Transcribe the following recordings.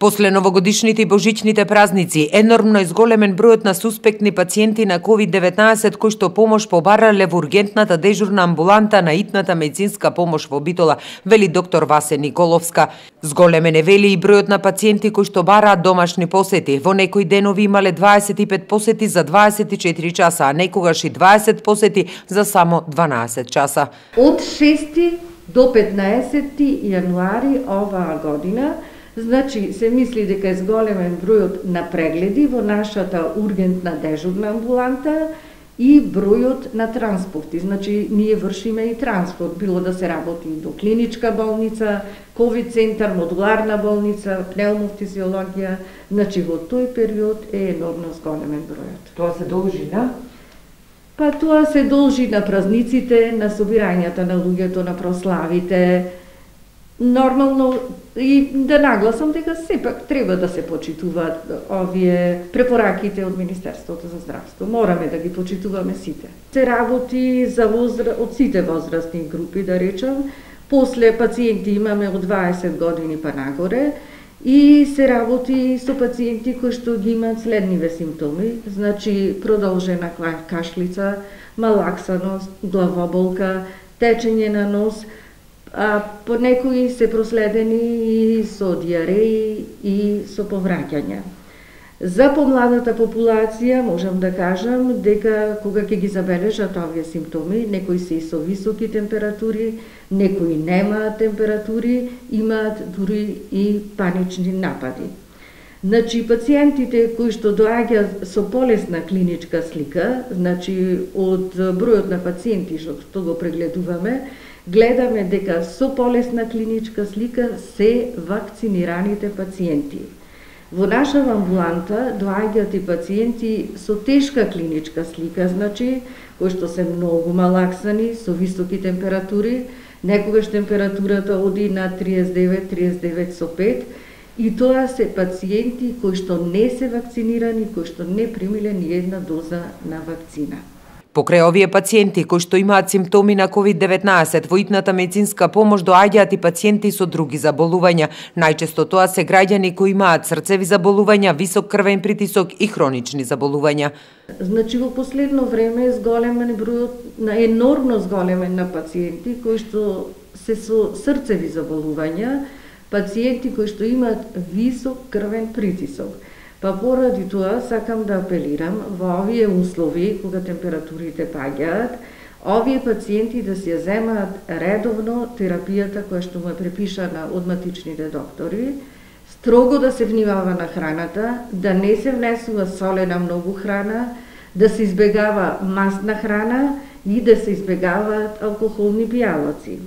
После новогодишните и божичните празници, енормно изголемен бројот на суспектни пациенти на COVID-19 кои што помош побарале во ургентната дежурна амбуланта на итната медицинска помош во Битола, вели доктор Васе Николовска. Зголемен е, вели, и бројот на пациенти кои што бараат домашни посети. Во некои денови имале 25 посети за 24 часа, а некогаш и 20 посети за само 12 часа. Од 6 до 15 јануари оваа година, значи се мисли дека е зголемен бројот на прегледи во нашата ургентна дежурна амбуланта и бројот на транспорти. Значи ние вршиме и транспорт, било да се работи до клиничка болница, ковид центар, модуларна болница, пневмофизиологија. Значи во тој период е енормно зголемен бројот. Тоа се должи на? Па тоа се должи на празниците, на собирањата на луѓето, на прославите. Нормално и да нагласам дека сепак треба да се почитуваат овие препораките од Министерството за здравство. Мораме да ги почитуваме сите. Се работи за од сите возрастни групи, да речам. После пациенти имаме од 20 години па нагоре и се работи со пациенти кои што ги имаат следниве симптоми, значи продолжена кашлица, малаксаност, главоболка, течење на нос, а по некои се проследени и со диареи и со повраќања. За помладата популација можам да кажам дека кога ќе ги забележат овие симптоми, некои се и со високи температури, некои немаат температури, имаат дури и панични напади. Значи, пациентите кои што доаѓаат со полесна клиничка слика, значи од бројот на пациенти што го прегледуваме, гледаме дека со полесна клиничка слика се вакцинираните пациенти. Во наша амбуланта доаѓаат и пациенти со тешка клиничка слика, значи кои што се многу малаксани, со високи температури, некогаш температурата оди на 39,5, и тоа се пациенти кои што не се вакцинирани, кои што не примиле ни една доза на вакцина. Покрај овие пациенти кои што имаат симптоми на COVID-19, во итната медицинска помош доаѓаат и пациенти со други заболувања. Најчесто тоа се граѓани кои имаат срцеви заболувања, висок крвен притисок и хронични заболувања. Значи во последно време зголемен бројот на енормно зголемен на пациенти кои што се со срцеви заболувања, пациенти кои што имаат висок крвен притисок. Па поради тоа сакам да апелирам во овие услови, кога температурите паѓаат, овие пациенти да си ја земаат редовно терапијата која што му е препишана од матичните доктори, строго да се внимава на храната, да не се внесува солена многу храна, да се избегава масна храна и да се избегаваат алкохолни пијалаци.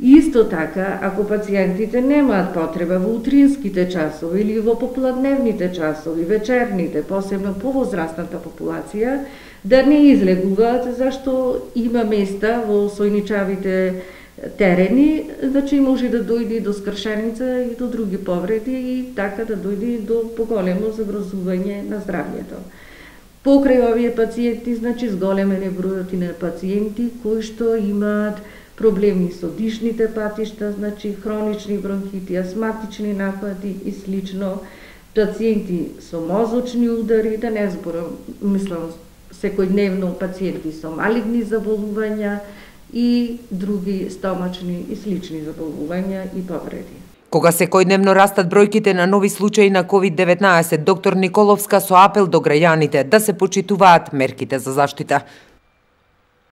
Исто така, ако пациентите немаат потреба во утринските часови или во попладневните часови, вечерните, посебно повозрастната популација, да не излегуваат, зашто има места во сојничавите терени, значи може да дојде до скршеница и до други повреди и така да дојде до поголемо загрозување на здравјето. Покрај овие пациенти, значи зголемен е бројот и на пациенти кои што имаат проблеми со дишните патишта, значи хронични бронхити, астматични напади и слично, пациенти со мозочни удари, да не зборам, мислам, секојдневно пациенти со малигни заболувања и други стомачни и слични заболувања и повреди. Кога секојдневно растат бројките на нови случаи на COVID-19, доктор Николовска со апел до граѓаните да се почитуваат мерките за заштита.